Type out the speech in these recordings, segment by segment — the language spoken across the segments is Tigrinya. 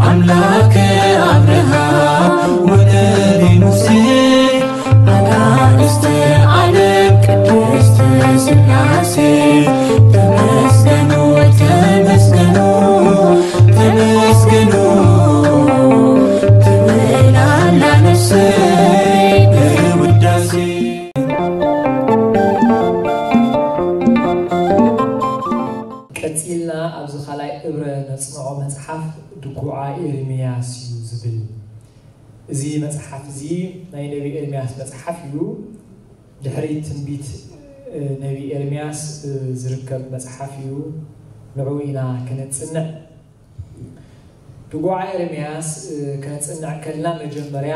ኣምላክ ኣብርሃም ወነቢ ሙሴ ኣናእስተ ዓለም ቅድስት ስላሴ ተመስገኑ ተመስገኑ ተመስገኑ ትብል ኣላ ነፍሰይ ብውዳሴ። ቀጺልና ኣብዚ ካልኣይ እብረ ነጽንዖ መጽሓፍ ድጉዓ ኤርምያስ እዩ ዝብል። እዚ መጽሓፍ እዚ ናይ ነቢ ኤርምያስ መጽሓፍ እዩ። ድሕሪ ትንቢት ነቢ ኤርምያስ ዝርከብ መጽሓፍ እዩ። ንዑ ኢና ከነጽንዕ። ድጉዓ ኤርምያስ ከነጽንዕ ከልና መጀመርያ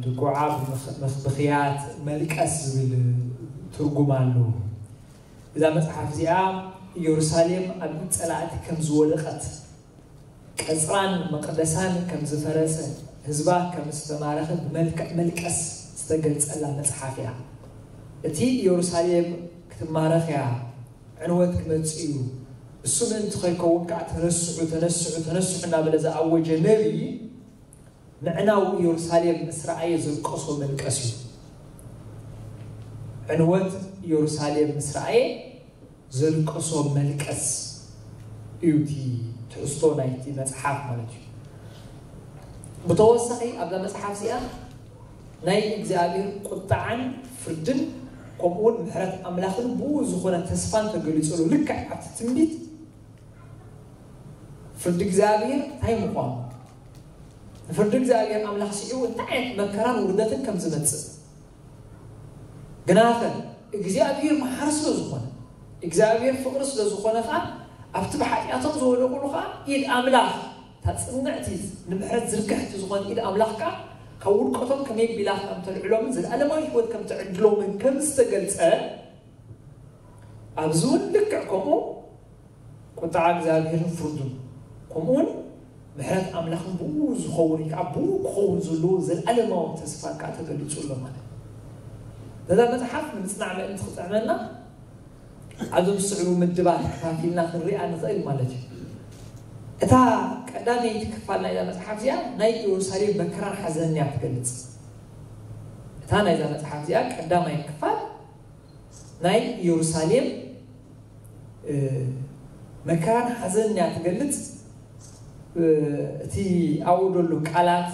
ድጉዓ ብምኽ- ብኽያት መልቀስ ዝብል ትርጉም ኣለዎ። እዛ መጽሓፍ እዚኣ ኢየሩሳሌም ኣብ ኢድ ጸላእቲ ከም ዝወደቐት፣ ቀጽራን መቕደሳን ከም ዝፈረሰ፣ ህዝባ ከም ዝተማረኸ ብመልክዕ መልቀስ ዝተገልጸላ መጽሓፍ እያ። እቲ ኢየሩሳሌም ክትማረኽ እያ፣ ዕንወት ክመጽእ እዩ፣ እሱ ምእንቲ ከይከውን ከዓ ተነስሑ፣ ተነስሑ፣ ተነስሑ እናበለ ዝኣወጀ ነቢይ፣ ምዕናው ኢየሩሳሌም ምስ ረኣየ ዘልቀሶ መልቀስ እዩ። ዕንወት ኢየሩሳሌም ምስ ረኣየ ዘልቀሶ መልቀስ እዩ እቲ ትሕዝቶ ናይቲ መጽሓፍ ማለት እዩ። ብተወሳኺ ኣብዛ መጽሓፍ እዚኣ ናይ እግዚኣብሔር ቁጣዓን ፍርድን ከምኡውን ምሕረት ኣምላኽን ብኡ ዝኾነ ተስፋን ተገሊጹ ኣሎ። ልክዕ ኣብቲ ትንቢት ፍርዲ እግዚኣብሔር እንታይ ምዃኑ፣ ንፍርዲ እግዚኣብሔር ኣምላኽ ስዒቡ እንታይ ዓይነት መከራን ውርደትን ከም ዝመጽእ። ግናኸ እግዚኣብሔር መሓሪ ስለ ዝኾነ፣ እግዚኣብሔር ፍቕሪ ስለ ዝኾነ ኸዓ ኣብቲ ብሓጢኣቶም ዝወደቑሉ ኸዓ ኢድ ኣምላኽ እታ ጽንዕቲ ንምሕረት ዝርግሕቲ ዝኾነ ኢድ ኣምላኽ ከዓ ካብ ውድቀቶም ከመይ ቢላ ከም ተልዕሎምን ዘለኣለማዊ ህይወት ከም ትዕድሎምን ከም ዝተገልጸ ኣብዚ እውን ልክዕ ከምኡ ቁጥዓ እግዚኣብሔርን ፍርዱን ከምኡውን ምሕረት ኣምላኽን ብኡ ዝኸውን ወይ ከዓ ብኡ ክኸውን ዘለዎ ዘለኣለማዊ ተስፋ ከዓ ተገሊጹ ኣሎ ማለት እዩ። ነዛ መጽሓፍ ንምጽናዕ ምእንቲ ክጥዕመና ኣብዞም ዝስዕቡ ምድባት ከፋፊልና ክንሪኣ ንኽእል ማለት እዩ። እታ ቀዳመይቲ ክፋል ናይዛ መጽሓፍ እዚኣ ናይ ኢየሩሳሌም መከራን ሓዘንን እያ ትገልጽ። እታ ናይዛ መጽሓፍ እዚኣ ቀዳማይ ክፋል ናይ ኢየሩሳሌም መከራን ሓዘንን እያ ትገልጽ። እቲ ኣብኡ ዘሎ ቃላት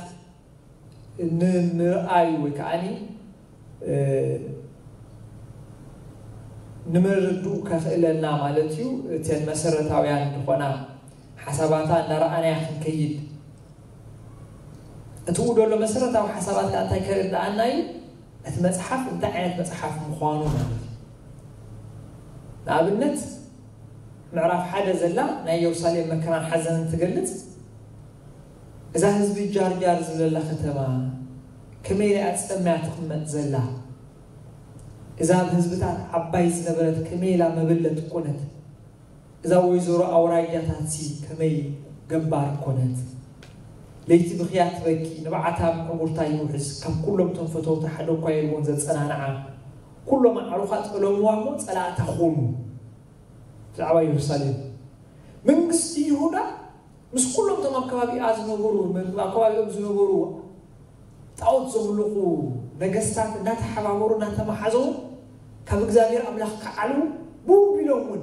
ንምርኣዩ ወይ ከዓኒ ንምርድኡ ከኽእለና ማለት እዩ። እተን መሰረታውያን ዝኾና ሓሳባታ እንዳረኣናያ ክንከይድ፣ እቲ ኡ ዘሎ መሰረታዊ ሓሳባት ከዓ እንታይ ከርድኣና እዩ? እቲ መጽሓፍ እንታይ ዓይነት መጽሓፍ ምዃኑ ማለት እዩ። ንኣብነት ምዕራፍ ሓደ ዘላ ናይ ኢየሩሳሌም መከራን ሓዘንን ትገልጽ። እዛ ህዝቢ ጃርጃር ዝብለላ ከተማ ከመይ ኢላ ጸምያ ትቕመጥ ዘላ፣ እዛ ኣብ ህዝብታት ዓባይ ዝነበረት ከመይ ኢላ መበለት ኮነት፣ እዛ ወይዘሮ ኣውራጃታትሲ ከመይ ገባር ኮነት። ለይቲ ብኽያ ትበኪ፣ ንብዓታ ምዕጉርታ ይውሕዝ፣ ካብ ኩሎም እቶም ፈተውታ ሓደ እኳ የልቦን ዘጸናንዓ። ኩሎም ኣዕሩኻ ጠለምዋ እሞ ጸላእታ ኾኑ። ብዛዕባ ኢየሩሳሌም መንግስቲ ይሁዳ ምስ ኩሎም እቶም ኣብ ከባቢኣ ዝነበሩ፣ ኣብ ከባቢኦም ዝነበሩ ጣዖት ዘምልኹ ነገስታት እናተሓባበሩ እናተመሓዘው ካብ እግዚኣብሔር ኣምላኽ ክዓልዉ ብኡ ቢሎም እውን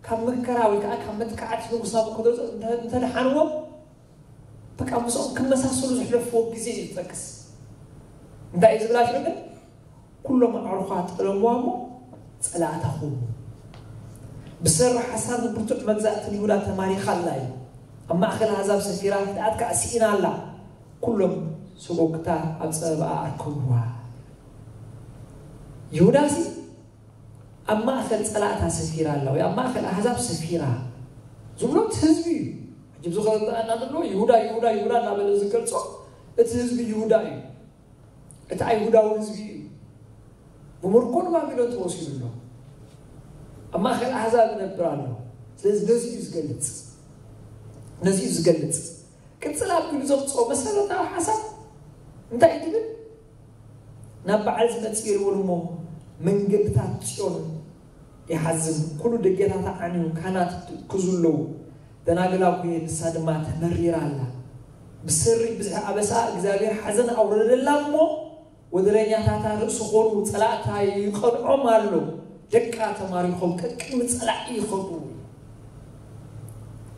ካብ መከራ ወይ ከዓ ካብ መጥቃዕቲ ንጉስ ናቡከደነፆር እንተ- እንተደሓንዎም በቃ ምስኦም ክመሳሰሉ ዘሕለፍዎ ግዜ እዩ ዝጠቅስ። እንታይ እዩ ዝብላ ሽዑ ግን ኩሎም ኣዕሩኻ ጠለምዋ እሞ ጸላእታ ኹኑ። ብሰሪ ሓሳብ ብርቱዕ መግዛእቲ ንይሁዳ ተማሪኻ ኣላ እዩ። ኣብ ማእከል ኣህዛብ ሰፊራ ክትኣት ከዓ ስኢና ኣላ። ኩሎም ሰጎግታ ኣብ ጸበባኣ ኣርከብዋ። ይሁዳሲ ኣብ ማእከል ጸላእታ ሰፊራ ኣላ ወይ ኣብ ማእከል ኣህዛብ ሰፊራ ዝብሎ እቲ ህዝቢ እዩ። ሕጂ ብዝኸበኣና ዘሎ ይሁዳ ይሁዳ ይሁዳ እናበለ ዝገልጾ እቲ ህዝቢ ይሁዳ እዩ። እቲ ኣይሁዳዊ ህዝቢ እዩ። ብምርኮ ንባቢሎን ተወሲዱ ኣሎ። ኣብ ማእከል ኣህዛብ ይነብር ኣሎ። ስለዚ ነዚ እዩ ዝገልጽ። ነዚ እዩ ዝገልጽ። ቅጽል ኣቢሉ ዘምጽኦ መሰረታዊ ሓሳብ እንታይ እዩ ትብል? ናብ በዓል ዝመጽእ የልቦን እሞ መንገድታት ጽዮን ይሓዝን፣ ኩሉ ደገታታ ዓንዩ፣ ካህናት ክዝለዉ፣ ደናግል ኣቡየ ንሳ ድማ ተመሪራ ኣላ። ብሰሪ ብዝሒ ኣበሳ እግዚኣብሔር ሓዘን ኣውረደላ እሞ፣ ወደረኛታታ ርእሲ ኾኑ ጸላእታ ይቐንዖም ኣሎ። ደቃ ተማሪኾም ቀቅድሚ ጸላኢ ይኸዱ።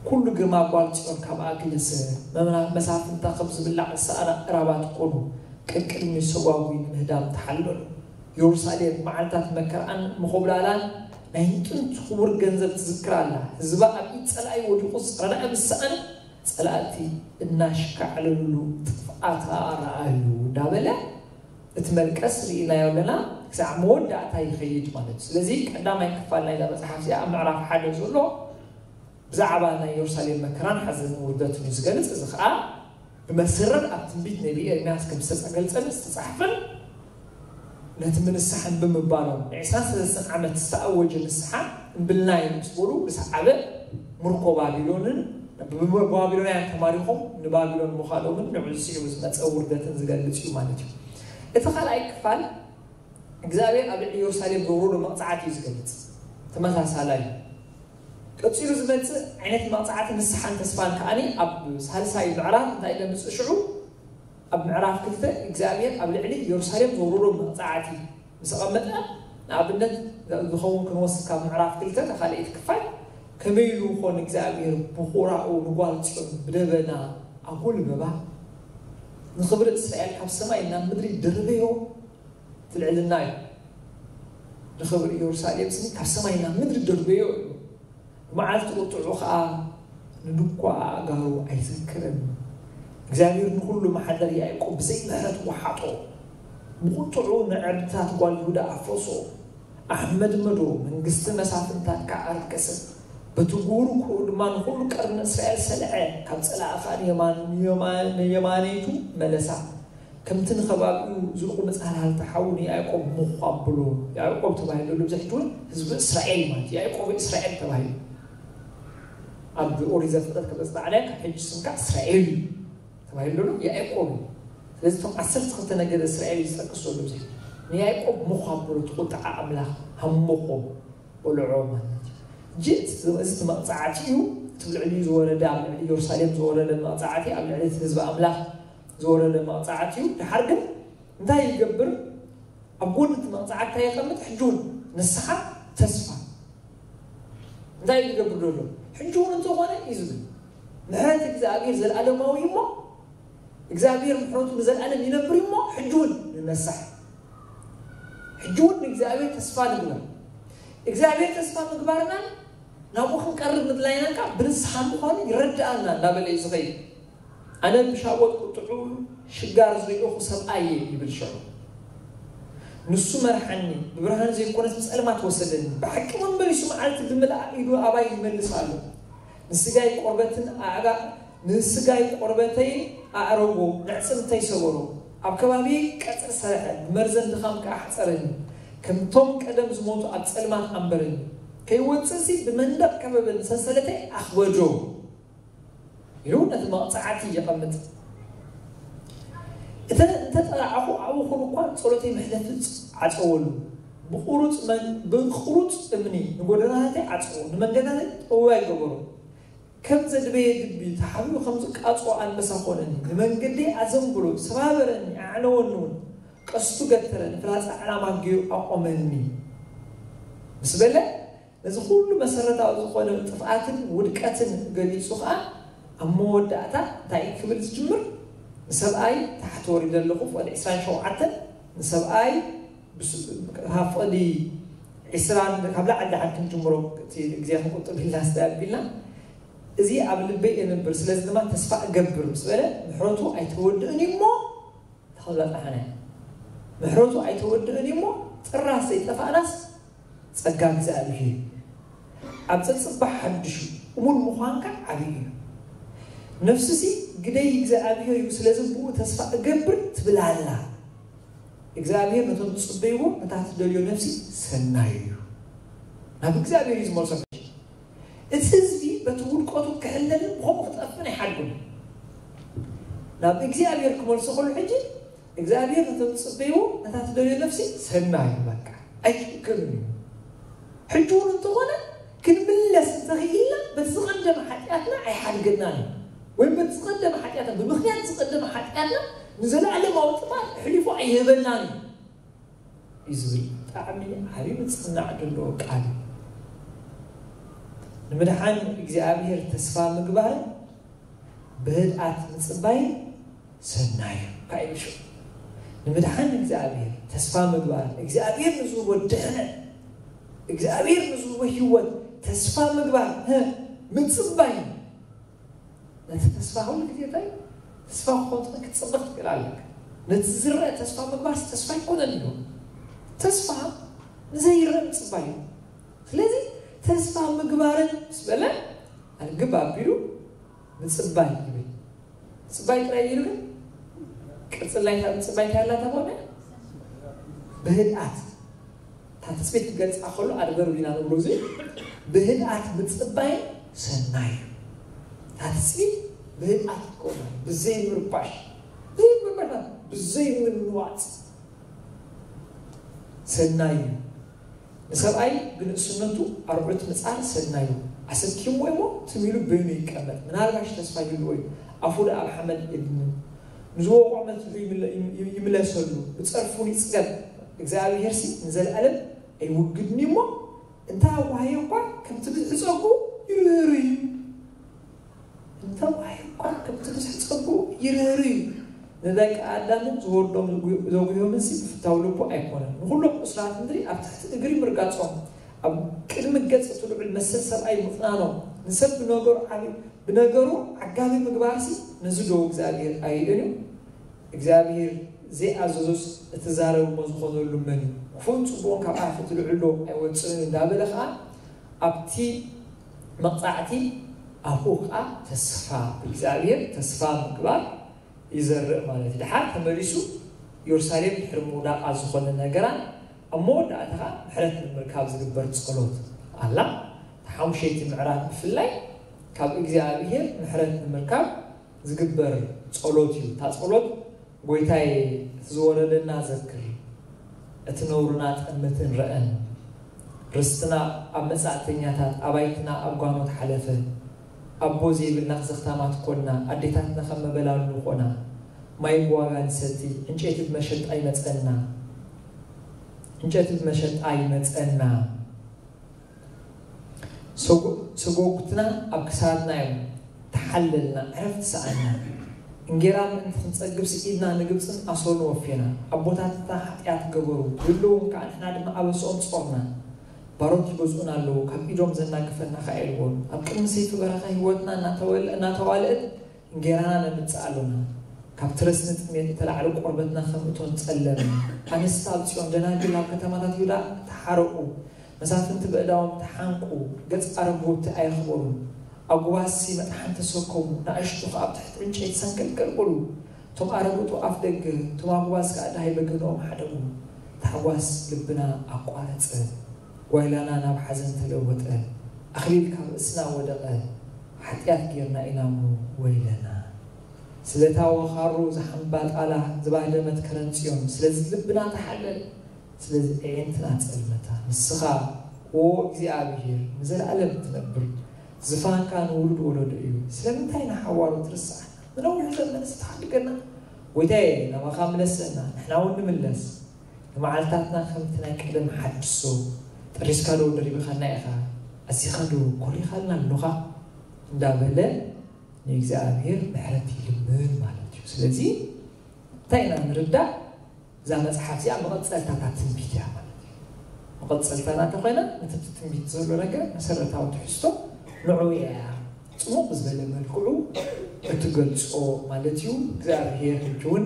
ኩሉ ግርማ ጓል ጽዮን ካብኣ ክልሰ፣ መምና-፣ መሳፍንታ ከም ዝብላዕ ዝሰኣና እራባት ኮኑ፣ ቀቅድሚ ሰጓጒ ንምህዳም ተሓለሉ። የሩሳሌም መዓልታት መከራኣን ምኾብላላን ናይ ጥንቲ ክቡር ገንዘብ ትዝክር ኣላ። ህዝባ ኣብ ኢድ ጸላኢ ወዲቑ ዝጸናዕ ምስ ሰኣነ፣ ጸላእቲ እናሽካዕለሉ ጥፍኣታ ረኣዩ እንዳበለ እቲ መልቀስ ርኢናዮ ኣለና። ክሳዕ መወዳእታ ይኸይድ ማለት እዩ። ስለዚ ቀዳማይ ክፋል ናይዛ መጽሓፍ እዚኣ ኣብ ምዕራፍ ሓደ ዘሎ ብዛዕባ ናይ የሩሳሌም መከራን ሓዘንን ውርደትን እዩ ዝገልጽ። እዚ ኸኣ ብመሰረት ኣብ ትንቢት ነቢ ኤርምያስ ከም ዝተገልጸን ዝተጻሕፈን ነቲ ምንስሓን ብምባሎም ንዕስራን ሰለስተን ዓመት ዝተኣወጀ ንስሓ እምብልናዮ ምስ በሉ ዝሰዓበ ምርኮ ባቢሎንን ብባቢሎናውያን ተማሪኾም ንባቢሎን ምዃዶምን ንዕኡ ዝስዕቡ ዝመጸ ውርደትን ዝገልጽ እዩ ማለት እዩ። እቲ ካልኣይ ክፋል እግዚኣብሔር ኣብ ልዕሊ ኢየሩሳሌም ዘውረዶ መቕጻዕቲ እዩ ዝገልጽ። ተመሳሳላይ እዩ። ቀጺሉ ዝመጽእ ዓይነት መቕጻዕቲ ንስሓን ተስፋን ከኣኒ ኣብ ሳልሳይ ምዕራፍ እንታይ ኢለ ምጽእ ሽዑ ኣብ ምዕራፍ ክልተ እግዚኣብሔር ኣብ ልዕሊ ኢየሩሳሌም ዘውረዶ መቕጻዕቲ ምስ ኣቐመጠ፣ ንኣብነት ዝኸውን ክንወስድ ካብ ምዕራፍ ክልተ ካልኣይቲ ክፋል ከመይ ኢሉ ይኾን እግዚኣብሔር ብኹራኡ ንጓል ጽዮን ብደበና ኣጎልበባ? ንኽብሪ እስራኤል ካብ ሰማይ ናብ ምድሪ ደርበዮ ትልዕልና እዩ። ንኽብሪ ኢየሩሳሌም ስኒ ካብ ሰማይ ናብ ምድሪ ደርበዮ እዩ። ብመዓልቲ ቁጥዑ ኸዓ ንድኳ ኣእጋሩ ኣይዘክርን። እግዚኣብሔር ንኹሉ መሓደር ያዕቆብ ብዘይ ምሕረት ወሓጦ። ብቁጥዑ ንዕርድታት ጓል ይሁዳ ኣፍረሶ። ኣሕመድመዶ መንግስቲ መሳፍንታት ከዓ ኣርከሰት። በቲ ጉሁሩ ክኡ ድማ ንኹሉ ቀርኒ እስራኤል ሰልዐ። ካብ ጸላኢ ኸዓ ንየማን-፣ ንየማን-፣ ንየማነይቱ መለሳ። ከምቲ ንኸባቢኡ ዝልቑ መጻሕልቲ ሓው ንያዕቆብ ምዃ ኣብሎ። ያዕቆብ ተባሂሉ ዘሎ ብዙሕ እውን ህዝቢ እስራኤል ማለት እዩ። ያዕቆብ እስራኤል ተባሂሉ። ኣብ ኦሪት ዘፍጥረት ከም ዘጽናዕናዮ ካብ ሕጂ ስምካ እስራኤል እዩ ተባሂሉ ዘሎ ያዕቆብ እዩ። ስለዚ እቶም ዓሰርተ ክልተ ነገደ እስራኤል እዩ ዝጠቅስ ዘሎ ብዙሕ። ንያዕቆብ ምዃ ኣብሎ፣ እቲ ቁጥዓ ኣምላኽ ሃሞኾ በልዖ ማለት እዩ። ሕጂ እዚ፣ እዚ እቲ መቕጻዕቲ እዩ። እቲ ኣብ ልዕሊ ዝወረደ፣ ኣብ ልዕሊ ኢየሩሳሌም ዝወረደ መቕጻዕቲ፣ ኣብ ልዕሊ እቲ ህዝቢ ኣምላኽ ዝወረደ መቕጻዕቲ እዩ። ድሓር ግን እንታይ ይገብር? ኣብ ጎኒ እቲ መቕጻዕቲ እንታይ የቐምጥ? ሕጂ እውን ንስሓ፣ ተስፋ። እንታይ እዩ ዝገብር ዘሎ? ሕጂ እውን እንተኾነ እዩ ዝብል። ምሕረት እግዚኣብሔር ዘለዓለማዊ እሞ፣ እግዚኣብሔር ምሕረቱ ንዘለዓለም ይነብር እሞ፣ ሕጂ እውን ንነሳሕ። ሕጂ እውን ንእግዚኣብሔር ተስፋ ንግበር። እግዚኣብሔር ተስፋ ምግባርናን ናብኡ ክንቀርብ ምድላይናን ከዓ ብንስሓ ምዃኑ ይረድኣና እናበለ እዩ ዝኸይድ። ኣነ ብሻወት ቁጥዑ ሽጋር ዝሪእኹ ሰብኣይ እየ ይብል ሽዑ። ንሱ መርሓኒ፣ ብብርሃን ዘይኮነስ ብጸልማት ወሰደኒ። ብሓቂ እውን መሊሱ መዓልቲ ብምልኣ ኢዱ ኣባይ ይመልስ ኣሎ። ንስጋይ ቆርበትን ኣዕጋ-፣ ንስጋይ ቆርበተይን ኣዕረጎ፣ ነዕጽምተይ ሰበሮ። ኣብ ከባቢየይ ቀጽሪ ሰርሐ፣ ብመርዘን ድኻም ከኣ ሓጸረኒ። ከምቶም ቀደም ዝሞቱ ኣብ ጸልማት ኣንበረኒ። ከይወጽእሲ ብመንደቕ ከበበኒ፣ ሰንሰለተይ ኣኽበዶ። ኢሉ ነቲ መቕጻዕቲ የቐምጥ። እተ-፣ እንተ ጠራዕኹ ኣብኡ ኹን እኳ ጸሎተይ መሕለፊ ዓጸወሉ። ብቑሩጽ መን-፣ ብቑሩጽ እምኒ ንጎደናታተይ ዓጸዎ፣ ንመንገዳተይ ጠውያይ ገበሮ። ከም ዘድበየ ድቢ ተሓቢኡ ከም ዝቃጽኦ ኣንበሳ ኾነኒ። ንመንገደይ ኣዘንብሎ፣ ሰባበረኒ፣ ኣዕነወኒ እውን። ቀስቱ ገተረ፣ ንፍላጻ ዕላማ ገይሩ ኣቖመኒ። ምስ በለ፣ ነዚ ኩሉ መሰረታዊ ዝኾነ ጥፍኣትን ውድቀትን ገሊጹ ኸኣ፣ ኣብ መወዳእታ እንታይ ክብል ዝጅምር? ንሰብኣይ፣ ታሕቲ ወሪደ ኣለኹ፣ ፍቕዲ ዕስራን ሸውዓተን፣ ንሰብኣይ፣ ብስ-፣ ካብ ፍቕዲ ዕስራን፣ ካብ ላዕሊ ደሓን ክንጅምሮ፣ እቲ ግዜ ክንቁጥብ ኢልና ስለ ኣቢልና፣ እዚ ኣብ ልበይ እነብር፣ ስለዚ ድማ ተስፋ እገብር ምስ በለ፣ ምሕረቱ ኣይተወድእን እዩ እሞ፣ ተኸብላ ጸሓነ። ምሕረቱ ኣይተወድእን እዩ እሞ፣ ጥራስ ዘይጠፋእናስ ጸጋ እግዚኣብሔር እዩ። ኣብ ጸጽባሕ ሓድሽ እዩ። እሙን ምዃንካ ዓብዪ እዩ። ነፍስሲ ግደይ እግዚኣብሔር እዩ፣ ስለዚ ብኡ ተስፋ እገብር ትብል ኣላ። እግዚኣብሔር ነቶም ዝጽበይዎ፣ ነታ ትደልዮ ነፍሲ ሰናይ እዩ። ናብ እግዚኣብሔር እዩ ዝመልሶ። እቲ ህዝቢ በቲ ውድቀቱ ክሕለልን ብኸምኡ ክጠፍእን ኣይሓድጎን። ናብ እግዚኣብሔር ክመልሶ ከሎ ሕጂ እግዚኣብሔር ነቶም ዝጽበይዎ፣ ነታ ትደልዮ ነፍሲ ሰናይ እዩ፣ በቃ ኣይጭክንን እዩ። ሕጂ እውን እንተኾነ ክንምለስ እንተኽኢልና በቲ ዝቐደመ ሓጢኣትና ኣይህበናን እዩ። ወይም በቲ ዝቐደመ ሓጢኣትና፣ ብምኽንያት ዝቐደመ ሓጢኣትና ንዘለኣለማዊ ጥፋት ኣሕሊፉ ኣይህበናን እዩ። እዩ ዝብል ብጣዕሚ ዓብዪ ምጽናዕ ዘለዎ ቃል እዩ። ንምድሓን እግዚኣብሔር ተስፋ ምግባርን ብህድኣት ምጽባይን ሰናይ እዩ። ካይብሹ ንምድሓን እግዚኣብሔር ተስፋ ምግባር፣ እግዚኣብሔር ንዝህቦ ድሕነት፣ እግዚኣብሔር ንዝህቦ ህይወት ተስፋ ምግባር፣ ህ፣ ምጽባይ። ነቲ ተስፋ ኩሉ ግዜ እንታይ ተስፋ ክኾን ክትጽበ ክትክእል ኣለካ። ነቲ ዝረአ ተስፋ ምግባር ተስፋ ኣይኮነን እዩ። ተስፋ ንዘይረአ ምጽባይ እዩ። ስለዚ ተስፋ ምግባርን ምስ በለ ኣልግብ ኣቢሉ ምጽባይ ይብል። ምጽባይ ጥራይ ይብል። ቅጽል ናይታ ምጽባይ እንታይ ኣላ ተባለ? ብህድኣት። እታ ትጽቢት ክገልጻ ከሎ ኣድበሩ ዲና ንብሎ እዚ ብህድኣት ምጽባይ ሰናይ እዩ። እታ ትጽቢት ብህድኣት ክኸውን፣ ብዘይ ምርባሽ፣ ብዘይ ምርባሽ፣ ብዘይ ምንዋጽ ሰናይ እዩ። ንሰብኣይ ብንእስነቱ ኣርዑት ምጻር ሰናዩ ኣሰኪምዎ እሞ ትም ኢሉ በይኑ ይቀመጥ። ምናልባሽ ተስፋ ይህልዎ እዩ። ኣፉ ደኣ ኣብ ሓመድ የድንን። ንዝወቕዖ መትሑ ይምለ-፣ ይም-፣ ይምለሰሉ፣ ብጸርፉን ይጽገብ። እግዚኣብሄርሲ ንዘለኣለም ኣይውግድን እዩ እሞ፣ እንተ ኣዋህዮ እኳ ከምቲ ብዝሒ ጸጉኡ ይርህር እዩ። እንተ ዋሂ እኳ ከምቲ ብዝሒ ጸጉኡ ይርህር እዩ። ንደቂ ኣዳምን ዝወርዶም ዘጉ-፣ ዘጉህዮምንሲ ብፍታው ልቡ ኣይኮነን። ንኹሎም ቁስላት ምድሪ ኣብ ትሕቲ እግሪ ምርጋጾም፣ ኣብ ቅድሚ ገጽ እቲ ልዑል መሰል ሰብኣይ ምጽናኖም፣ ንሰብ ብነገሩ ዓቢ-፣ ብነገሩ ዓጋቢ ምግባርሲ ነዚ ዶ እግዚኣብሔር ኣይእን እዩ? እግዚኣብሔር ዘይኣዘዞስ እትዛረብ እሞ ዝኾነሉ መን እዩ? ክፉእን ጽቡቕን ካብ ኣፍ እቲ ልዑል ዶ ኣይወጽእን እዩ? እንዳበለ ኸኣ ኣብቲ መቕጻዕቲ ኣብኡ ኸኣ ተስፋ ብእግዚኣብሔር ተስፋ ምግባር ይዘርእ ማለት እዩ። ድሓር ተመሊሱ ኢየሩሳሌም ድሕሪ ምውዳቓ ዝኾነ ነገራን ኣብ መወዳእታ ኸኣ ምሕረት ንምርካብ ዝግበር ጸሎት ኣላ። እታ ሓሙሸይቲ ምዕራፍ ብፍላይ ካብ እግዚኣብሔር ምሕረት ንምርካብ ዝግበር ጸሎት እዩ። እታ ጸሎት ጎይታይ እቲ ዝወረደና ዘክር፣ እቲ ነውርና ጠምትን ረአን፣ ርስትና ኣብ መጻእተኛታት፣ ኣባይትና ኣብ ጓኖት ሓለፈ፣ ኣቦ ዘይብልና ዘኽታማት ኮና፣ ኣዴታትና ከም መበላሉ ኾና፣ ማይ ብዋጋ ንሰቲ፣ ዕንጨይቲ ብመሸጣ ይመጸና፣ ዕንጨይቲ ብመሸጣ ይመጸና። ሰጎ-፣ ሰጎጉትና ኣብ ክሳድና እዮም ተሓለልና፣ ዕረፍቲ ሰኣና። እንጌራ ምእንቲ ክንጸግብ ስኢድና ንግብጽን ኣሶርን ወፌና። ኣቦታትና ሓጢኣት ገበሩ፣ ይብሉ እውን ከኣ ንሕና ድማ ኣበስኦም ጾርና። ባሮት ይገዝኡና ኣለዉ፣ ካብ ኢዶም ዘናግፈና ከኣ የልቦን። ኣብ ቅድሚ ሰይፊ በረኻ ህይወትና እናተወል-፣ እናተዋልአት እንጌራና ነምጽእ ኣሎና። ካብ ትረስኒ ጥሜት እተላዕለ ቆርበትና ከም እቶን ጸለመ። ኣንስቲ ኣብ ጽዮን፣ ደናግል ኣብ ከተማታት ይሁዳ ተሓረቑ። መሳፍንቲ በእዳዎም ተሓንቁ፣ ገጽ ኣረግቦቲ ኣየኽበሩን። ኣጉባዝሲ መጥሓን ተሰከሙ፣ ንኣሽቱ ኸኣ ኣብ ትሕቲ ዕንጨይቲ ሰንከልከል በሉ። እቶም ኣረግቱ ኣፍ ደገ፣ እቶም ኣጉባዝ ከኣ ደሃይ በገንኦም ሓደጉ። ታሕጓስ ልብና ኣቋረጸ፣ ጓይላና ናብ ሓዘን ተለወጠ። ኣኽሊል ካብ ርእስና ወደቐ፣ ሓጢኣት ጌርና ኢና እሞ ወይለና። ስለታ ወኻሩ ዝሓምባ ጣላ፣ ዝባህደመት ከረን ጽዮን፣ ስለዚ ልብና ተሓለለ። ስለዚ ኣዒንትና ጸልመታ። ንስኻ፣ ኦ እግዚኣብሄር፣ ንዘለኣለም ትነብር። ዝፋንካ ንውሉድ ወለዶ እዩ። ስለምንታይ ንሓዋሩ ትርስዓና? ንነዊሕ ዘመንስ ትሓድገና? ጐይታየ፣ ናባኻ ምለሰና፣ ንሕና እውን ንምለስ። ንመዓልታትና ከምቲ ናይ ቀደም ሓድሶ። ጠሪስካ ዶ ደሪብኻና ኢኻ? ኣዚኻ ዶ ኮሪኻልና ኣሎኻ? እንዳበለ ንእግዚኣብሔር ምሕረት ይልምን ማለት እዩ። ስለዚ እንታይ ኢና ንርዳእ? እዛ መጽሓፍ እዚኣ መቐጸልታ እታ ትንቢት እያ ማለት እዩ። መቐጸልታ ናታ ኮይና፣ ነቲ ትንቢት ዘሎ ነገር መሰረታዊ ትሕዝቶ ንዑ እያ ጽቡቕ ብዝበለ መልክዑ እትገልጾ ማለት እዩ። እግዚኣብሔር ሕጂ እውን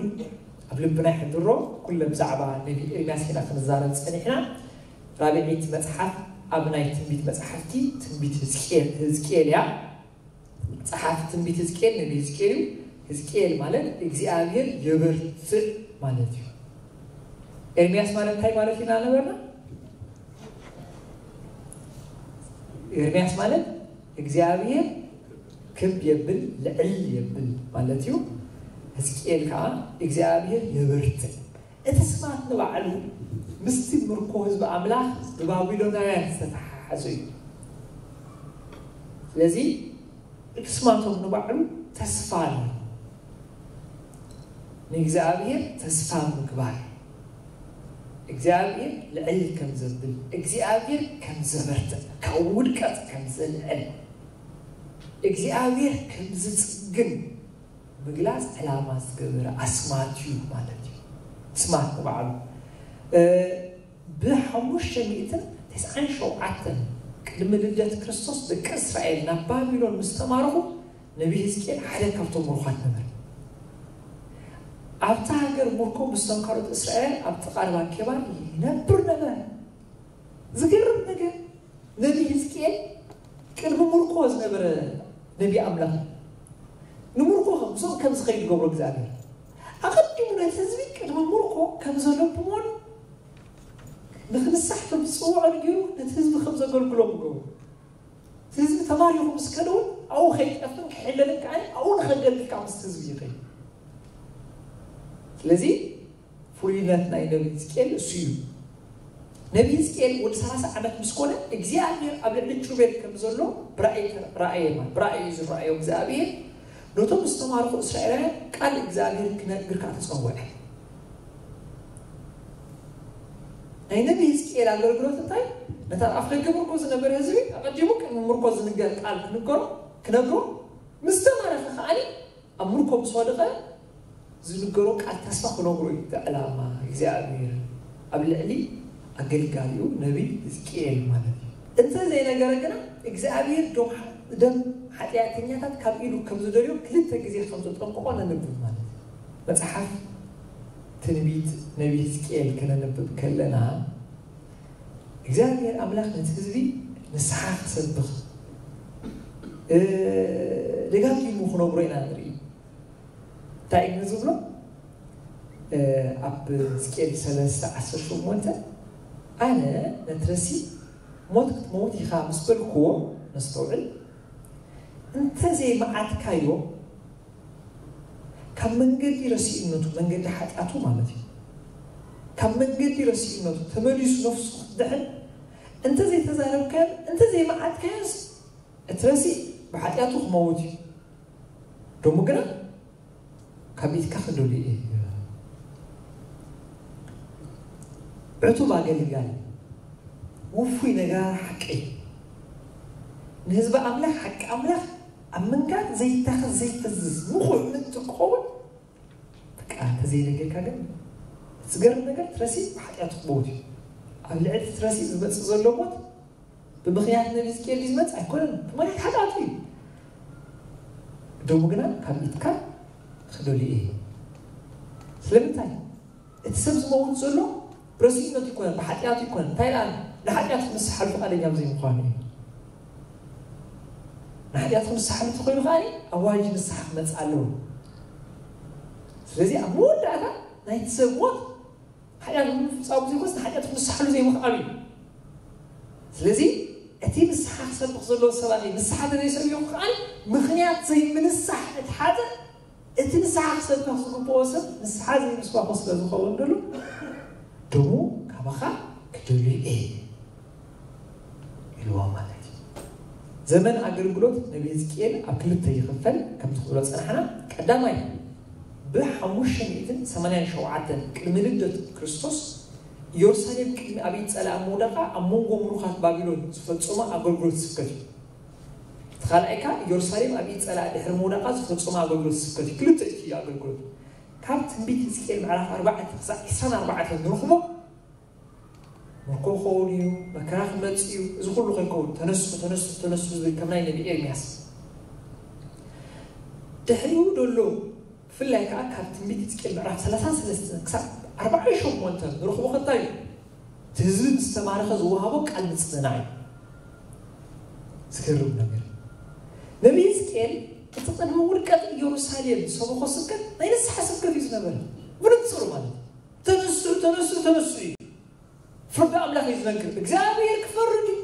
ኣብ ልብና ይሕድሮ። ኩለ ብዛዕባ ነቢ ኤርምያስ ኢና ክንዛረብ ጸኒሕና። ራብዒት መጽሓፍ ኣብ ናይ ትንቢት መጽሓፍቲ ትንቢት ህዝቅኤል፣ ህዝቅኤል እያ። ጸሓፊ ትንቢት ህዝቅኤል ነቢ ህዝቅኤል እዩ። ህዝቅኤል ማለት እግዚኣብሔር የበርትዕ ማለት እዩ። ኤርምያስ ማለት እንታይ ማለት ኢና ነበርና? ኤርምያስ ማለት እግዚኣብሔር ክብ የብል፣ ልዕል የብል ማለት እዩ። ህዝቅኤል ከዓ እግዚኣብሔር የበርትዕ። እቲ ስማት ንባዕሉ ምስቲ ምርኮ ህዝቢ ኣምላኽ ብባቢሎናውያን ዝተተሓሓዘ እዩ። ስለዚ ቅስማቶም ንባዕሉ ተስፋ ኣሎ። ንእግዚኣብሔር ተስፋ ምግባር፣ እግዚኣብሔር ልዕል ከም ዘብል፣ እግዚኣብሔር ከም ዘበርትዕ፣ ካብ ውድቀት ከም ዘልዕል፣ እግዚኣብሔር ከም ዝጽግን ምግላጽ ዕላማ ዝገበረ ኣስማት እዩ ማለት እዩ። ኣስማት ንባዕሉ ብሓሙሽተ ሚእትን ተስዓን ሸውዓተን ቅድሚ ልደት ክርስቶስ ደቂ እስራኤል ናብ ባቢሎን ምስ ተማረኹ፣ ነቢ ህዝቅኤል ሓደ ካብቶም ምሩኻት ነበረ። ኣብታ ሃገር ምርኮ ምስቶም ካልኦት እስራኤል ኣብ ጥቓ ርባ ኬባር ይነብር ነበረ። ዝገርም ነገር፣ ነቢ ህዝቅኤል ቅድሚ ምርኮ ዝነበረ ነቢ ኣምላኽ፣ ንምርኮ ከም ዝኸይድ ገብሮ እግዚኣብሔር። ኣቐዲሙ ነቲ ህዝቢ ቅድሚ ምርኮ ከም ዘለብሞን ንክንሳሕ ከም ዝፅውዖን ገይሩ ነቲ ህዝቢ ከም ዘገልግሎም ገብሮ። እቲ ህዝቢ ተማሪኹ ምስ ከደ እውን ኣብኡ ከይጠፍን ክሕለልን ከዓ ኣብኡ ንኸገልግል ከዓ ምስቲ ህዝቢ ይኸይድ። ስለዚ ፍሉይነት ናይ ነቢ ህዝቅኤል እሱ እዩ። ነቢ ህዝቅኤል ወዲ ሰላሳ ዓመት ምስ ኮነ እግዚኣብሔር ኣብ ልዕሊ ኪሩቤል ከም ዘሎ ብራእይ ተረ- ራእየ ማለት ብራእይ እዩ ዝረኣዮ እግዚኣብሔር። ነቶም ዝተማረኹ እስራኤላውያን ቃል እግዚኣብሔር ክነግር ከዓ ተፀወዐ። ናይ ነቢ ህዝቅኤል ኣገልግሎት እንታይ? ነታ ኣብ ኣፍ ደገ ምርኮ ዝነበረ ህዝቢ ኣቐዲሙ ቅድሚ ምርኮ ዝንገር ቃል ክንገሮ ክነግሮ፣ ምስ ተማረኸ ከዓኒ ኣብ ምርኮ ምስ ወደቐ ዝንገሮ ቃል ተስፋ ክነግሮ እዩ። እቲ ዕላማ እግዚኣብሔር ኣብ ልዕሊ ኣገልጋሊኡ ነቢ ህዝቅኤል ማለት እዩ። እንተ ዘይነገረ ግና እግዚኣብሔር ደም ደም ሓጢኣተኛታት ካብ ኢዱ ከም ዝደልዮ ክልተ ግዜ ከም ዘጠንቅቆ ነንብብ ማለት እዩ። መጽሓፍ ትንቢት ነቢ ህዝቅኤል ከነንብብ ከለና እግዚኣብሔር ኣምላኽ ነቲ ህዝቢ ንስሓ ክሰብኽ ደጋጊሙ ክነግሮ ኢና ንርኢ። እንታይ እዩ ዝብሎ? ኣብ ሕዝቅኤል ሰለስተ ዓሰርተ ሸሞንተ ኣነ ነትረሲ ሞት ክትመውት ኢኻ ምስ በልክዎ፣ ነስተውዕል፣ እንተዘይመዓትካዮ ካብ መንገዲ ረሲእነቱ፣ መንገዲ ሓጢኣቱ ማለት እዩ፣ ካብ መንገዲ ረሲእነቱ ተመሊሱ ነፍሱ ክትድሕን እንተዘይተዛረብካዮን እንተዘይመዓትካዮንስ እቲ ረሲእ ብሓጢኣቱ ክመውት እዩ። ደሞ ግና ካብ ኢድካ ክደልዮ እየ። ዕቱብ ኣገልጋሊ፣ ውፉይ ነጋሪ ሓቂ፣ ንህዝቢ ኣምላኽ ሓቂ ኣምላኽ ኣብ ምንጋር ዘይታኸስ ዘይፈዝዝ ምኹዕ ምእንቲ ክኸውን በቃ እንተዘይነገርካ ግን እቲ ዝገርም ነገር ትረሲ ብሓጢኣቱ ክመውት እዩ። ኣብ ልዕሊ ትረሲ ዝመፅእ ዘሎ ሞት ብምኽንያት ነቢ ህዝቅኤል ዝመጽእ ኣይኮነን፣ ብምኽንያት ሓጢኣቱ እዩ። ደሙ ግና ካብ ኢድካ ክደልዮ እየ። ስለምንታይ? እቲ ሰብ ዝመውት ዘሎ ብረሲእነቱ ይኮነን፣ ብሓጢኣቱ ይኮነን። እንታይ ደኣ ንሓጢኣቱ ክንስሓሉ ፍቓደኛ ብዘይምዃኑ እዩ። ንሓጢኣቱ ክንስሓሉ እንተኾይኑ ከኣ ኣዋጅ ንስሓ ክመጽእ ኣለዎ። ስለዚ ኣብ መወዳእታ ናይቲ ሰብ ሞት ሓጢኣት ንምፍጻሙ ዘይኮነስ ንሓጢኣት ክንስሓሉ ዘይምኽኣሉ እዩ። ስለዚ እቲ ንስሓ ክሰብኽ ዘለዎ ሰባኺ ንስሓ ተዘይሰብዮ ከኣ ምኽንያት ዘይምንሳሕ እቲ ሓጥእ እቲ ንስሓ ክሰብኽ ዝግብኦ ሰብ ንስሓ ዘይምስባኹ ስለ ዝኸውን ደሎ ደሙ ካባኻ ክደልዩ እየ ኢልዎ ማለት እዩ። ዘመን ኣገልግሎት ነቢ ህዝቅኤል ኣብ ክልተ ይኽፈል። ከምቲ ክብሎ ጸናሕና፣ ቀዳማይ ብሓሙሽተ ሚእትን ሰማንያን ሸውዓተን ቅድሚ ልደት ክርስቶስ ኢየሩሳሌም ቅድሚ ኣብ ኢድ ጸላኢ ምውዳቓ ኣብ መንጎ ምሩኻት ባቢሎን ዝፈጸሞ ኣገልግሎት ስብከት እዩ። እቲ ካልኣይ ከኣ ኢየሩሳሌም ኣብ ኢድ ጸላኢ ድሕሪ ምውዳቓ ዝፈጸሞ ኣገልግሎት ስብከት እዩ። ክልተ እዩ እቲ ኣገልግሎት። ካብ ትንቢት ህዝቅኤል ምዕራፍ ኣርባዕተ ክሳብ ዕስራን ኣርባዕተን ንረኽቦ ምርኮ ክኸውን እዩ፣ መከራ ክመጽእ እዩ፣ እዚ ኩሉ ከይከውን ተነሱ ተነሱ ተነሱ ዝብል ከም ናይ ነቢ ኤርምያስ። ድሕሪኡ ደሎ ብፍላይ ከኣ ካብ ትንቢት ህዝቅኤል ምዕራፍ ሰላሳን ሰለስተን ክሳብ ኣርባዓን ሸሞንተን ንረኽቦ ከ እንታይ እዩ? እቲ ህዝቢ ምስ ተማረኸ ዝወሃቦ ቃል ምጽንናዕ እዩ። ዝገርም ነገር፣ ነቢ ህዝቅኤል እቲ ቅድሚ ውድቀት ኢየሩሳሌም ዝሰበኾ ስብከት ናይ ንስሓ ስብከት እዩ ዝነበረ። ብንጹር ማለት እዩ። ተነስኡ ተነስኡ ተነስኡ እዩ። ፍርዲ ኣምላኽ እዩ ዝነግር። እግዚኣብሔር ክፈርድ እዩ።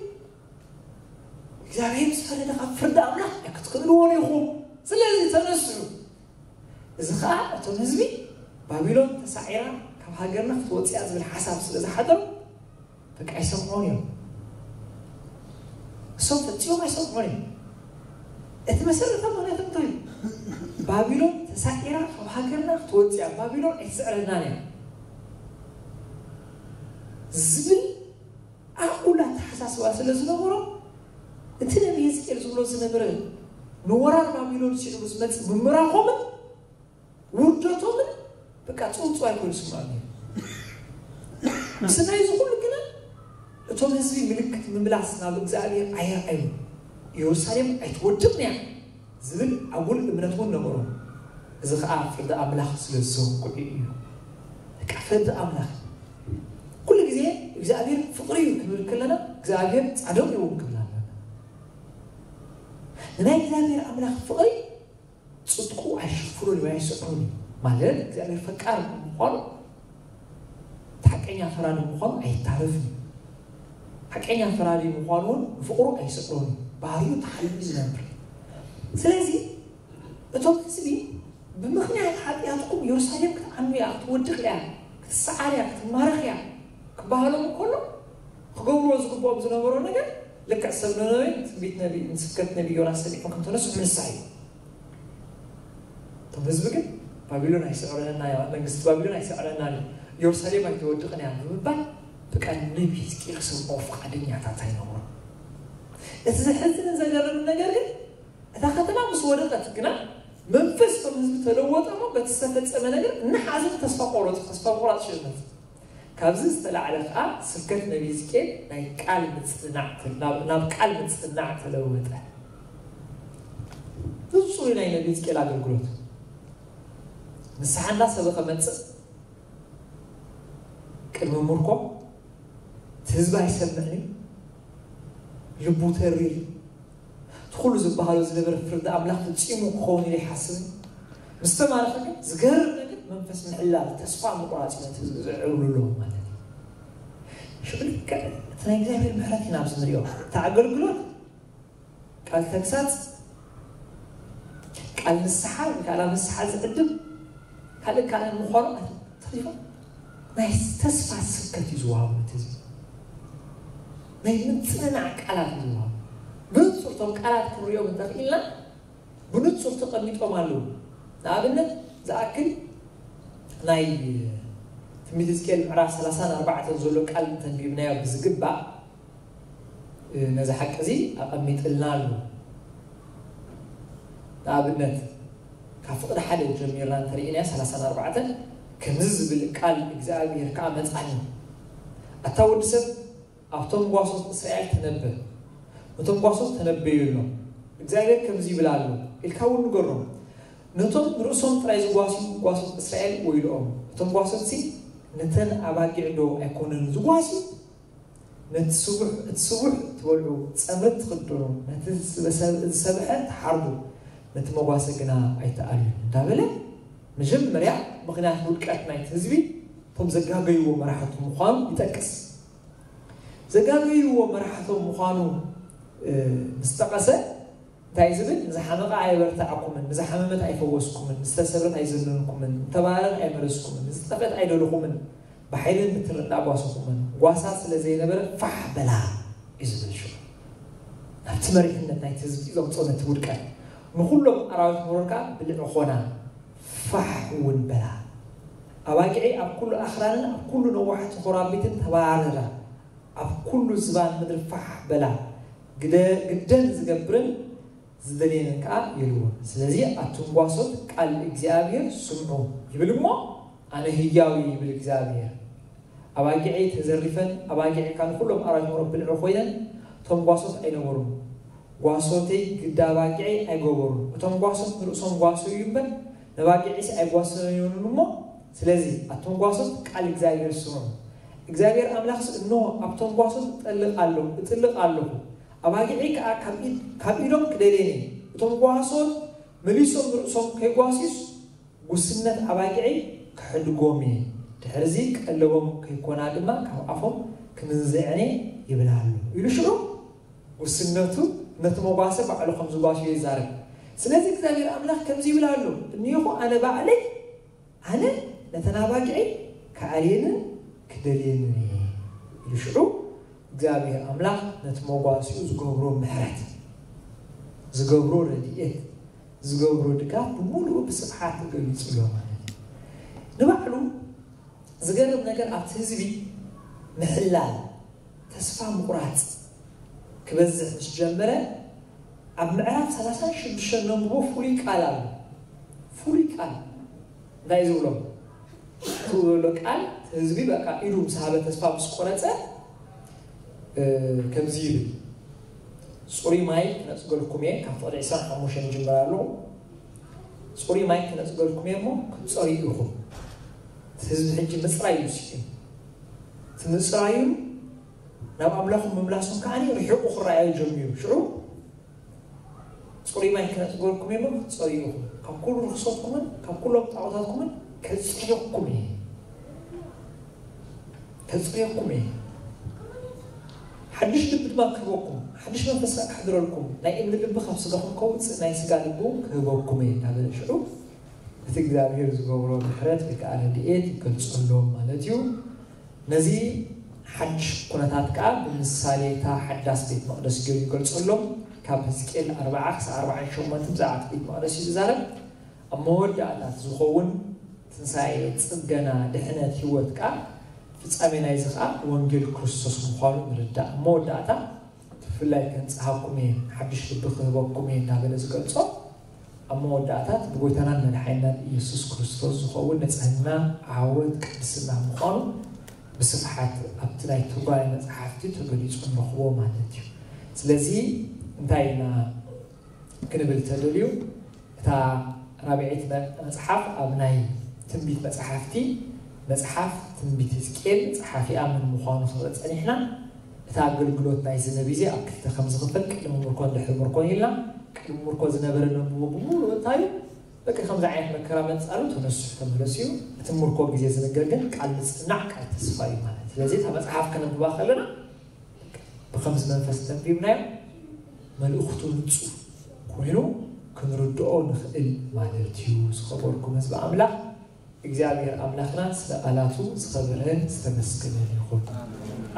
እግዚኣብሔር ምስ ፈረደ ካብ ፍርዲ ኣምላኽ ክትክእልዎ ኢኹም። ስለዚ ተነስኡ። እዚ ኸዓ እቶም ህዝቢ ባቢሎን ተሳዒራ ካብ ሃገርና ክትወፅእ እያ ዝብል ሓሳብ ስለ ዝሓደሮም በቃ ኣይሰምዑን እዮም። እሶም ፈፂሞም ኣይሰምዑን እዮም። እቲ መሰረታዊ ምኽንያት እንታይ እዩ? ባቢሎን ተሳዒራ ካብ ሃገርና ክትወፅእ እያ፣ ባቢሎን ኣይትስዕረናን እያ ዝብል ኣጉል ኣተሓሳስባ ስለ ዝነበሮ፣ እቲ ነቢ ህዝቅኤል ዝብሎ ዝነበረ ንወራር ባቢሎን ስዒቡ ዝመፅእ ምምራኾምን ውርደቶምን በቃ ፅውፅዋይ ኮይኑ ስምዖም እዩ። ምስ ናይ እዚ ኩሉ ግና እቶም ህዝቢ ምልክት ምምላስ ናብ እግዚኣብሔር ኣየርኣዩ። ኢየሩሳሌም ኣይትወድቕን እያ ዝብል ኣጉል እምነት እውን ነበሮም። እዚ ከዓ ፍርዲ ኣምላኽ ስለ ዝዘንግዑ እዩ። በቃ ፍርዲ ኣምላኽ ኩሉ ግዜ እግዚኣብሔር ፍቕሪ እዩ ክንብል ከለና እግዚኣብሔር ጻድቕ እዩ እውን ክብል ኣለና። ንናይ እግዚኣብሔር ኣምላኽ ፍቕሪ ጽድቁ ኣይሽፍኖን እዩ ኣይስዕሮን እዩ ማለት እግዚኣብሔር ፈቃር ምዃኑ ሓቀኛ ፈራዲ ምዃኑ ኣይታረፍን እዩ። ሓቀኛ ፈራዲ ምዃኑ እውን ንፍቕሩ ኣይስዕሮን እዩ። ባህሪኡ ተሓልዩ ዝነብር። ስለዚ እቶም ህዝቢ ብምኽንያት ሓጢኣትኩም ኢየሩሳሌም ክትዓኑ እያ፣ ክትወድቕ እያ፣ ክትሰዓር እያ፣ ክትማረኽ እያ ክበሃሎም እንከሎ ክገብርዎ ዝግብኦም ዝነበሮ ነገር ልክዕ ሰብ ነነዌ ትንቢት ነቢ ንስብከት ነቢ ዮናስ ሰሚዖም ከም ተነስሑ ምንሳእ እዩ። እቶም ህዝቢ ግን ባቢሎን ኣይስዕረና እያ፣ መንግስቲ ባቢሎን ኣይስዕረና እዩ፣ ኢየሩሳሌም ኣይትወድቕን እያ ብምባል ብቃል ነቢ ህዝቅኤል ክሰምዖ ፍቓደኛታት ኣይነበሩ። እቲ ዘሕዝንን ዘገርምን ነገር ግን እታ ከተማ ምስ ወደቐት ግና መንፈስ እቶም ህዝቢ ተለወጠ እሞ በቲ ዝተፈጸመ ነገር እናሓዘኑ ተስፋ ቆረጹ። ተስፋ ምቑራጽ ሽርነት። ካብዚ ዝተላዕለ ከዓ ስብከት ነቢ ህዝቅኤል ናይ ቃል ምጽናዕ ናብ ቃል ምጽናዕ ተለወጠ። ብፁዕ ናይ ነቢ ህዝቅኤል ኣገልግሎት ንስሓ እንዳሰበኸ መጽእ ቅድሚ ምርኮ እቲ ህዝቢ ኣይሰምዕን እዩ። ልቡ ተሪር እቲ ኩሉ ዝበሃሎ ዝነበረ ፍርዲ ኣምላኽ ፈጺሙ ክኸውን ኢለ ይሓስብ። ምስ ተማረኸ ግን ዝገርም ነገር መንፈስ ምሕላል ተስፋ ምቑራጽ ነቲ ህዝቢ ዘዕብሉ ኣለዉ ማለት እዩ። ሽዑ ልክዕ እቲ ናይ እግዚኣብሔር ምሕረት ኢና ኣብዚ ንሪኦ። እቲ ኣገልግሎት ቃል ተግሳጽ ቃል ንስሓ ወይ ከዓ ናብ ንስሓ ዝዕድም ካልእ ካልእ ምዃኑ ተሪፎም ናይ ተስፋ ስብከት እዩ ዝወሃቡ ነቲ ህዝቢ ናይ ምፅንናዕ ቃላት እዩ ዝወሃቡ። ብንፁር እቶም ቃላት ክንሪኦም እንተኽኢልና ብንፁር ተቐሚጦም ኣለዉ። ንኣብነት ዝኣክል ናይ ትንቢት ህዝቅኤል ምዕራፍ ሰላሳን ኣርባዕተን ዘሎ ቃል እንተንቢብናዮ ብዝግባእ ነዚ ሓቂ እዚ ኣቐሚጥልና ኣሎ። ንኣብነት ካብ ፍቕዲ ሓደ ጀሚርና እንተሪእናዮ ሰላሳን ኣርባዕተን ከምዚ ዝብል ቃል እግዚኣብሔር ከዓ መፃኒ ኣታ ወዲ ሰብ ኣብቶም ጓሶት እስራኤል ተነበ ነቶም ጓሶት ተነበየሎም እግዚኣብሔር ከምዚ ይብል ኣሎ ኢልካ እውን ንገሮም ነቶም ንርእሶም ጥራይ ዝጓስዩ ጓሶት እስራኤል ወይልኦም እቶም ጓሶት ሲ ነተን ኣባጊዕ ዶ ኣይኮነን ዝጓስዩ ነቲ ስቡሕ እቲ ስቡሕ ትበልዑ ጸምሪ ትኽደኑ ነቲ ዝሰብሐ ትሓርዱ ነቲ መጓሰ ግና ኣይትኣልዩ እንዳበለ መጀመርያ ምኽንያት ውድቀት ናይቲ ህዝቢ እቶም ዘጋገይዎ መራሕቱ ምዃኑ ይጠቅስ። ዘጋገይዎ መራሕቶም ምዃኑ ምስ ጠቐሰ እንታይ ዝብል ንዝሓመቐ ኣየበርትዓኩምን ንዝሓመመት ኣይፈወስኩምን ንዝተሰብረት ኣይዘነንኩምን ንተባረረት ኣይመለስኩምን ንዝጠፍአት ኣይደለኹምን ብሓይልን ብትርን ኣጓሰኹምን ጓሳ ስለ ዘይነበረ ፋሕ በላ እዩ ዝብል ሽዑ ናብቲ መሪሕነት ናይቲ ህዝቢ ዘምፅኦ ነቲ ውድቀት ንኩሎም ኣራዊት መሮር ከዓ ብልዒ ኾና ፋሕ እውን በላ ኣባጊዒ ኣብ ኩሉ ኣኽራንን ኣብ ኩሉ ነዋሕቲ ኮራቢትን ተባረራ ኣብ ኩሉ ዝባን ምድሪ ፋሕ በላ ግደን ዝገብርን ዝደልየንን ከዓ የልቦን። ስለዚ ኣቱም ጓሶት ቃል እግዚኣብሔር ስምዑ ይብል እሞ ኣነ ህያው እየ ይብል እግዚኣብሔር። ኣባጊዐይ ተዘሪፈን ኣባጊዐይ ካብ ንኩሎም ኣራዊት መሮር ብልዒ ኮይነን እቶም ጓሶት ኣይነበሩን። ጓሶተይ ግዳ ኣባጊዐይ ኣይገበሩን። እቶም ጓሶት ንርእሶም ጓሰዩ እምበር ነባጊዐይሲ ኣይጓሰዩንን እሞ ስለዚ ኣቱም ጓሶት ቃል እግዚኣብሔር ስምዑ። እግዚኣብሔር ኣምላኽስ እንሆ ኣብቶም ጓሶት እጠልቕ ኣለኹ እጥልቕ ኣለኹ ኣባጊዐይ ከዓ ካብ ኢዶም ክደልየን እየ እቶም ጓሶት መሊሶም ንርእሶም ከይጓስዩስ ጉስነት ኣባጊዐይ ክሕድጎም እየ ድሕርዚ ቀለቦም ከይኮና ድማ ካብ ኣፎም ክምንዝዐን እየ ይብል ኣሎ ኢሉ ሽዑ ጉስነቱ ነቲ መጓሰ ባዕሉ ከም ዝጓስዮ ይዛረብ ስለዚ እግዚኣብሔር ኣምላኽ ከምዚ ይብል ኣሎ እኒኹ ኣነ ባዕለይ ኣነ ነተን ኣባጊዐይ ክኣልየንን ክደልየንን እየ ኢሉ ሽዑ እግዚኣብሔር ኣምላኽ ነቲ መጓሲኡ ዝገብሮ ምሕረት ዝገብሮ ረድኤት፣ ዝገብሮ ድጋፍ ብምሉኡ ብስፍሓት ተገሊጹ ኣሎ ማለት እዩ። ንባዕሉ ዝገርም ነገር ኣብቲ ህዝቢ ምሕላል፣ ተስፋ ምቑራጽ ክበዝሕ ምስ ጀመረ ኣብ ምዕራፍ ሰላሳን ሽዱሽተን ነንብቦ ፍሉይ ቃል ኣሎ። ፍሉይ ቃል እንታይ ዝብሎ? ትብሎ ቃል ህዝቢ በቃ ኢዱ ምስ ሃበ ተስፋ ምስ ቆረጸ ከምዚ ይብል፣ ጽሩይ ማይ ክነጽገልኩም እየ። ካብ ፍቕዲ ዕስራን ሓሙሽተን ይጅምር ኣለኹ። ጽሩይ ማይ ክነጽገልኩም እየ እሞ ክትጸርዩ ኢኹም። ህዝቢ ሕጂ ምጽራይ እዩ ስኪ ትምጽራዩ ናብ ኣምላኹም ምምላሶም ከዓኒ ርሒቑ ክረኣዩ ጀሚሩ። ሽዑ ጽሩይ ማይ ክነጽገልኩም እየ እሞ ክትጸርዩ ኢኹም። ካብ ኩሉ ርኽሶትኩምን ካብ ኩሎም ጣዖታትኩምን ከጽርየኩም እየ። ከጽርየኩም እየ። ሓድሽ ልቢ ድማ ክህበኩም፣ ሓድሽ መንፈስ ከኣ ከሕድረልኩም፣ ናይ እምኒ ልቢ ካብ ስጋኹም ከውጽእ ናይ ስጋ ልቢ እውን ክህበኩም እየ እናበለ ሽዑ እቲ እግዚኣብሔር ዝገብሮ ምሕረት ወይ ከዓ ረድኤት ይገልጸሎም ማለት እዩ። ነዚ ሓድሽ ኩነታት ከዓ ብምሳሌ እታ ሓዳስ ቤት መቕደስ ገይሩ ይገልጸሎም። ካብ ሕዝቅኤል ኣርባዓ ክሳብ ኣርባዓን ሸሞንተን ብዛዕባ እቲ ቤት መቕደስ እዩ ዝዛረብ። ኣብ መወዳእታት ዝኸውን ትንሳኤ፣ ጽገና፣ ድሕነት፣ ህይወት ከዓ ፍጻሜ ናይዚ ከዓ ወንጌል ክርስቶስ ምዃኑ ንርዳእ። ኣብ መወዳእታ ብፍላይ ከንጽሃኩም እየ፣ ሓድሽ ልቢ ክህበኩም እየ እናበለ ዝገልጾ ኣብ መወዳእታት ብጎይታናን መድሓኒናን ኢየሱስ ክርስቶስ ዝኸውን ንጽህና፣ ዓወት፣ ቅድስና ምዃኑ ብስፍሓት ኣብቲ ናይ ትርጓሜ መጽሓፍቲ ተገሊጹ ንረኽቦ ማለት እዩ። ስለዚ እንታይ ኢና ክንብል ተደልዩ? እታ ራብዐይቲ መ- መጽሓፍ ኣብ ናይ ትንቢት መጽሓፍቲ መጽሓፍ ትንቢት ሕዝቅኤል ጸሓፊኣ መን ምዃኑ ክንርኢ ጸኒሕና። እቲ ኣገልግሎት ናይዚ ነቢ እዚ ኣብ ክልተ ከም ዝኽፈል ቅድሚ ምርኮን ድሕሪ ምርኮን ኢልና። ቅድሚ ምርኮ ዝነበረ ነንብቦ ብምሉኡ እንታይ እዩ? በቂ ከምዚ ዓይነት መከራ መጻሉ ተነስሑ ተመለሱ እዩ። እቲ ምርኮ ግዜ ዝንገር ግን ቃል ምጽናዕ ቃል ተስፋ እዩ ማለት። ስለዚ እታ መጽሓፍ ከነንብባ ከለና ብኸምዚ መንፈስ ተንቢብናዮ መልእኽቱ ንጹር ኮይኑ ክንርድኦ ንኽእል ማለት እዩ። ዝኸበርኩም ህዝቢ ኣምላኽ እግዚኣብሔር ኣምላኽና ስለ ቃላቱ ዝኸበረን ዝተመስገነን ይኹን።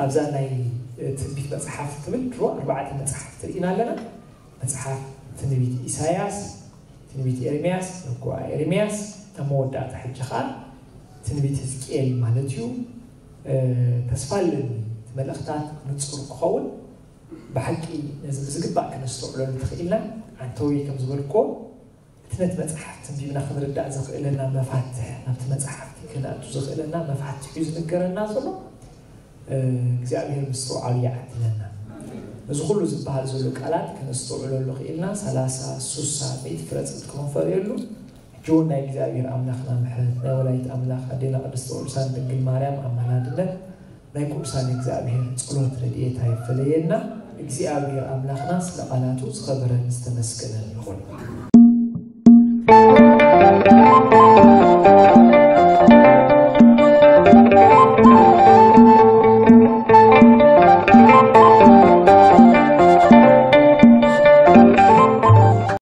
ኣብዛ ናይ ትንቢት መጽሓፍ ትብል ድሮ ኣርባዕተ መጽሓፍ ትርኢና ኣለና። መጽሓፍ ትንቢት ኢሳያስ፣ ትንቢት ኤርምያስ፣ ንጉኣ ኤርምያስ፣ ኣብ መወዳእታ ሕጂ ኸዓ ትንቢት ህዝቅኤል ማለት እዩ። ተስፋ ኣለኒ እቲ መልእኽታት ንጹር ክኸውን ብሓቂ ነዚ ብዝግባእ ከነስተውዕለሉ ተኽኢልና። ዓንተዊ ከም ዝበልክዎ እቲ ነቲ መጽሓፍ ትንቢብና ክንርዳእ ዘኽእለና መፋትሕ ናብቲ መጽሓፍቲ ከነእቱ ዘኽእለና መፋትሕ እዩ ዝንገረና ዘሎ። እግዚኣብሔር ምስትውዓሉ ይዓድለና። እዚ ኩሉ ዝበሃል ዘሎ ቃላት ከነስተውዕለሉ ክኢልና ሰላሳ ሱሳ ሚእቲ ፍረ ጽድቂ ክንፈርየሉ ሕጂ እውን ናይ እግዚኣብሔር ኣምላኽና ምሕረት ናይ ወላዲት ኣምላኽ ኣዴና ቅድስቲ ቅዱሳን ድንግል ማርያም ኣማላድነት ናይ ቅዱሳን እግዚኣብሔር ጸሎት ረድኤታ ይፈለየና። እግዚኣብሔር ኣምላኽና ስለ ቃላቱ ዝኸበረን ዝተመስገነን ይኹን።